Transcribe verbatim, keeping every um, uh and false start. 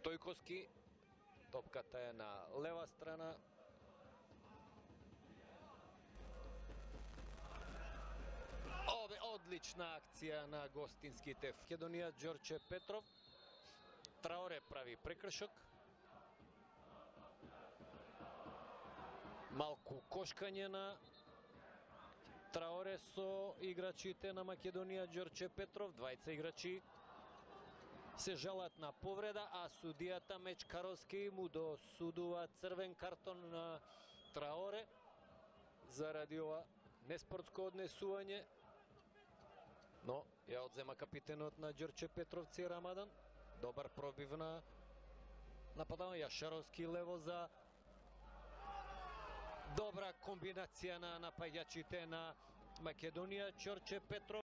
Стојковски, топката е на лева страна. Ове одлична акција на гостинските. Македонија Ѓорче Петров. Траоре прави прекршок. Малку кошкање на Траоре со играчите на Македонија Ѓорче Петров. Двајца играчи се жалат на повреда, а судијата Мечкаровски му досудува црвен картон на Траоре заради ова неспортско однесување. Но ја одзема капитенот на Ѓорче Петровци Рамадан. Добар пробив на нападување. Јашаровски лево за добра комбинација на напаѓачите на Македонија. Ѓорче Петров